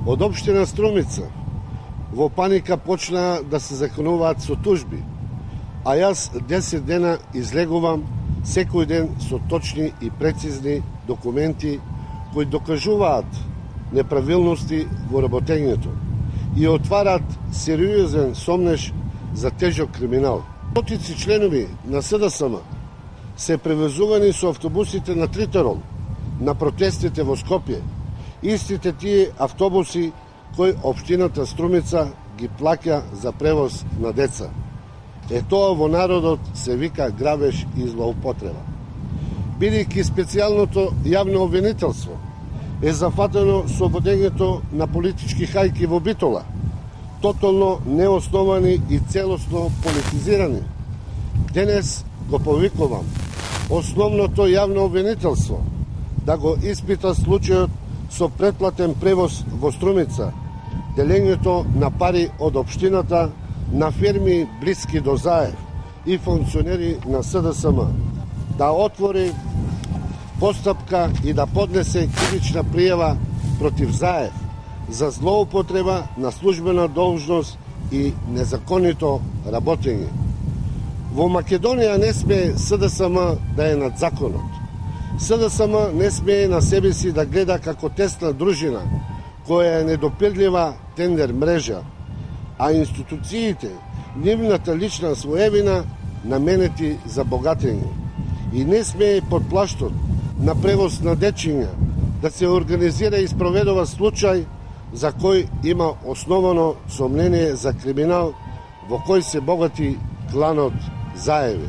Од општина Струмица во паника почнаа да се законуваат со тужби, а јас 10 дена излегувам секој ден со точни и прецизни документи кои докажуваат неправилности во работењето и отварат сериозен сомнеж за тежок криминал. Стотици членови на СДСМ се превезувани со автобусите на Тритерол на протестите во Скопје. Истите тие автобуси кои општината Струмица ги плаќа за превоз на деца. Тоа во народот се вика грабеж и злоупотреба. Бидејќи специјалното јавно обвинителство е зафатено со водењето на политички хајки во Битола, тотално неосновани и целосно политизирани. Денес го повикувам основното јавно обвинителство да го испита случајот со претплатен превоз во Струмица, делењето на пари од општината на фирми блиски до Заев и функционери на СДСМ, да отвори постапка и да поднесе кривична пријава против Заев за злоупотреба на службена должност и незаконито работење. Во Македонија не смее СДСМ да е над законот. СДСМ не смее на себе си да гледа како тесна дружина која е недопирлива тендер мрежа, а институциите, нивната лична своевина наменети за богатење. И не смее под плаштот на превоз на дечиња да се организира и спроведува случај за кој има основано сомнение за криминал во кој се богати кланот Заеви.